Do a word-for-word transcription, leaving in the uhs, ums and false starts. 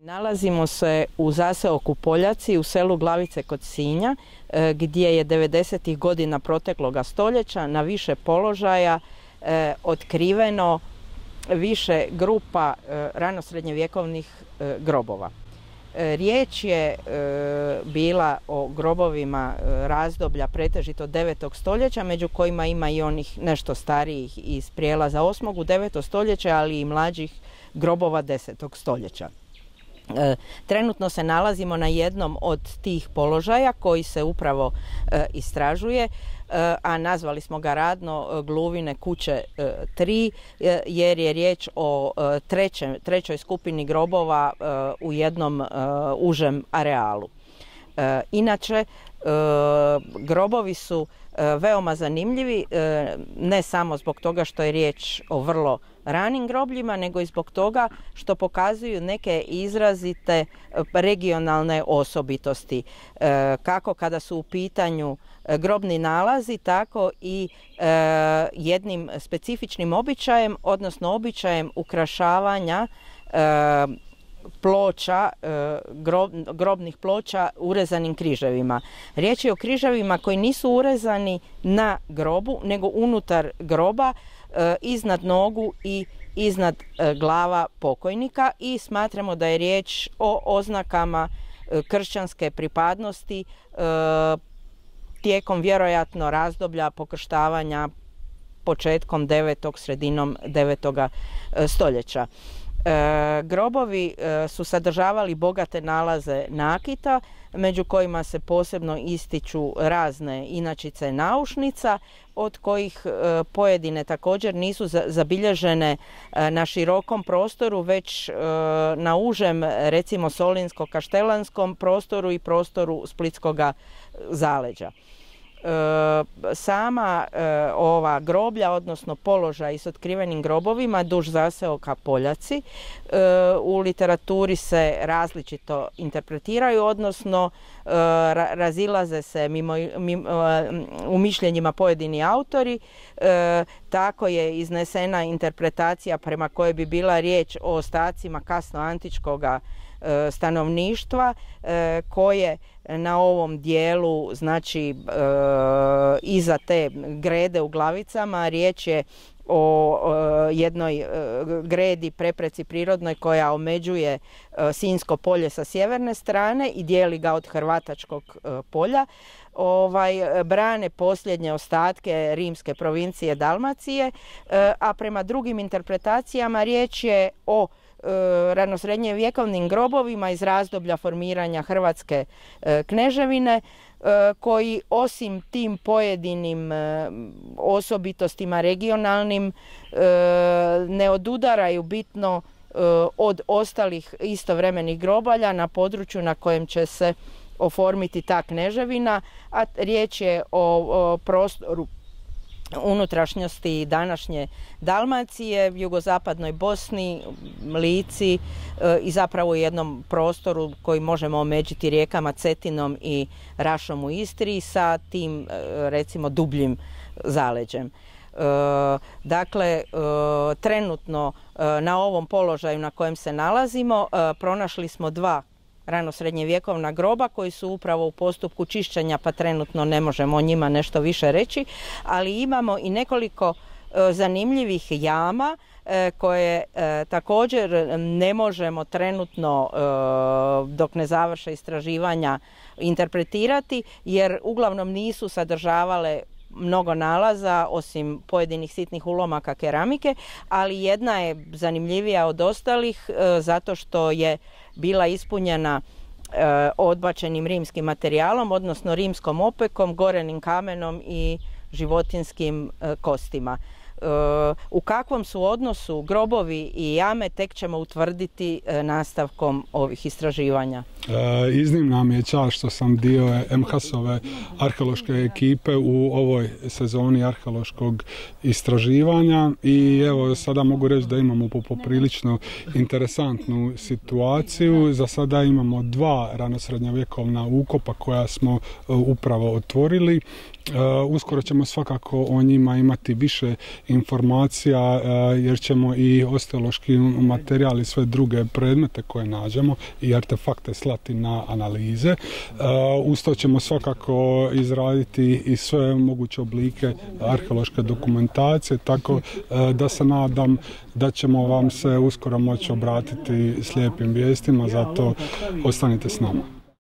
Nalazimo se u zaseoku Poljaci u selu Glavice kod Sinja, gdje je devedesetih godina protekloga stoljeća na više položaja eh, otkriveno više grupa eh, ranosrednjevjekovnih eh, grobova. Eh, riječ je eh, bila o grobovima eh, razdoblja pretežito devetog stoljeća, među kojima ima i onih nešto starijih iz prijelaza osmog u deveto stoljeće, ali i mlađih grobova desetog stoljeća. E, trenutno se nalazimo na jednom od tih položaja koji se upravo e, istražuje, e, a nazvali smo ga radno e, Gluvine kuće e, tri, e, jer je riječ o e, treće, trećoj skupini grobova e, u jednom e, užem arealu. E, inače, e, grobovi su e, veoma zanimljivi, e, ne samo zbog toga što je riječ o vrlo ranim grobljima, nego i zbog toga što pokazuju neke izrazite regionalne osobitosti, e, kako kada su u pitanju grobni nalazi, tako i e, jednim specifičnim običajem, odnosno običajem ukrašavanja e, ploča, grob, grobnih ploča urezanim križevima. Riječ je o križevima koji nisu urezani na grobu, nego unutar groba, iznad nogu i iznad glava pokojnika, i smatramo da je riječ o oznakama kršćanske pripadnosti tijekom vjerojatno razdoblja pokrštavanja početkom devetog, sredinom devetoga stoljeća. E, grobovi e, su sadržavali bogate nalaze nakita, među kojima se posebno ističu razne inačice naušnica, od kojih e, pojedine također nisu za, zabilježene e, na širokom prostoru, već e, na užem, recimo solinsko-kaštelanskom prostoru i prostoru splitskoga zaleđa. E, sama e, ova groblja, odnosno položaj s otkrivenim grobovima duž zaseoka Poljaci, e, u literaturi se različito interpretiraju, odnosno e, ra, razilaze se mimo, mimo, u mišljenjima pojedini autori. E, tako je iznesena interpretacija prema kojoj bi bila riječ o ostacima kasnoantičkoga stanovništva e, koje na ovom dijelu, znači e, iza te grede u Glavicama, riječ je o e, jednoj e, gredi, prepreci prirodnoj koja omeđuje e, Sinjsko polje sa sjeverne strane i dijeli ga od Hrvatačkog e, polja. Ovaj, brane posljednje ostatke rimske provincije Dalmacije, e, a prema drugim interpretacijama riječ je o ranosrednjevjekovnim grobovima iz razdoblja formiranja Hrvatske e, kneževine, e, koji osim tim pojedinim e, osobitostima regionalnim e, ne odudaraju bitno e, od ostalih istovremenih grobalja na području na kojem će se oformiti ta kneževina, a riječ je o, o prostoru unutrašnjosti današnje Dalmacije, jugozapadnoj Bosni, Lici e, i zapravo u jednom prostoru koji možemo omeđiti rijekama Cetinom i Rašom u Istri sa tim e, recimo dubljim zaleđem. E, dakle, e, trenutno e, na ovom položaju na kojem se nalazimo e, pronašli smo dva ranosrednjevjekovna groba koji su upravo u postupku čišćenja, pa trenutno ne možemo o njima nešto više reći, ali imamo i nekoliko e, zanimljivih jama e, koje e, također ne možemo trenutno e, dok ne završe istraživanja interpretirati, jer uglavnom nisu sadržavale mnogo nalaza osim pojedinih sitnih ulomaka keramike, ali jedna je zanimljivija od ostalih e, zato što je bila ispunjena e, odbačenim rimskim materijalom, odnosno rimskom opekom, gorenim kamenom i životinjskim e, kostima. E, u kakvom su odnosu grobovi i jame tek ćemo utvrditi e, nastavkom ovih istraživanja. E, iznimna mi je čast što sam dio em ha es-ove arheološke ekipe u ovoj sezoni arheološkog istraživanja i evo sada mogu reći da imamo poprilično interesantnu situaciju. Za sada imamo dva ranosrednjovjekovna ukopa koja smo upravo otvorili. Uh, uskoro ćemo svakako o njima imati više informacija jer ćemo i osteološki materijal i sve druge predmete koje nađemo i artefakte slati na analize. Uz to ćemo svakako izraditi i sve moguće oblike arheološke dokumentacije, tako da se nadam da ćemo vam se uskoro moći obratiti s lijepim vijestima, zato ostanite s nama.